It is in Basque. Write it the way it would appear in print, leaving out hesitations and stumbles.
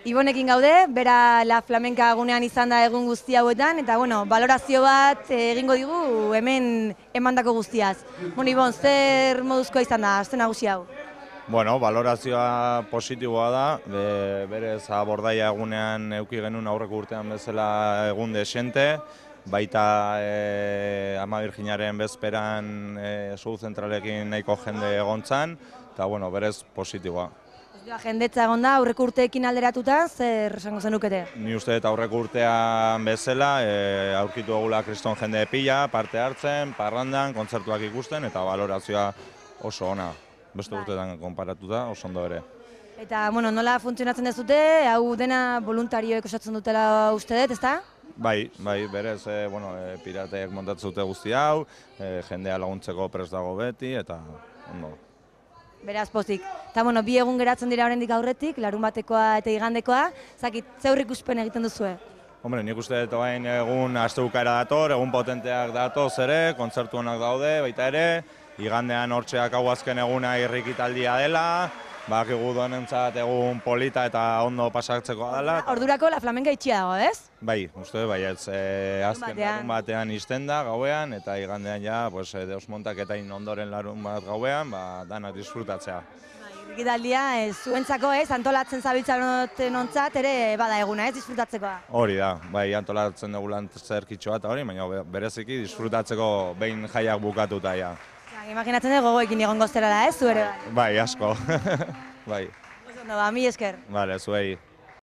Ibonekin gaude, bera La Flamenca gunean izan da egun guzti hauetan, eta bueno, valorazio bat egingo digu hemen emandako guztiaz. Bueno, Ibon, zer moduzkoa izan da, aste nagusi hau? Bueno, valorazioa positiboa da, berez abordaia egunean eduki genuen aurreko urtean bezala egun desente, baita Ama Birjinaren bezperan Soul Zentralekin nahiko jende egontzan, eta bueno, berez positiboa. Jendetza egon da, aurreko urteekin alderatuta, zer esango zenukete? Ni uste dut aurreko urtean bezala, aurkitu egula kriston jende pila, parte hartzen, parrandan, kontzertuak ikusten, eta valorazioa oso ona. Beste urteetan konparatuta, oso ondo ere. Eta, bueno, nola funtzionatzen dezute, hau dena voluntarioek osatzen dutela uste dut, ezta? Bai, berez, pirateek montatzen dute guzti hau, jendea laguntzeko prest dago beti, eta ondo. Beraz pozik. Eta, bueno, bi egun geratzen dira oraindik aurretik, larun batekoa eta igandekoa, zakit, zeur ikuspen egiten duzue? Hombre, nik uste dut orain egun astebukaera dator, egun potenteak datoz ere, kontzertu honak daude, baita ere, igandean hortxeak hau azken eguna irrikitaldia dela, bakigu duenentzat egun polita eta ondo pasatzeko dela. Ordurako La Flamenca itxia dago, ez? Bai, uste bai, azken larun batean izten da gauean, eta igandean ja, deus montaketain ondoren larun bat gauean, danak disfrutatzea. Irrikitaldia, zuentzako ez, antolatzen zabiltzaren ontzat ere bada eguna, ez, disfrutatzekoa? Hori da, bai, antolatzen dugu lan zerkitxoa eta hori, baina bereziki disfrutatzeko behin jaiak bukatuta ja. Imaginatzen dugu gogoekin egon gozterala, ez, zu ere bai? Bai, asko. Bai. Oso ondo, ba, mi esker. Bale, zuei.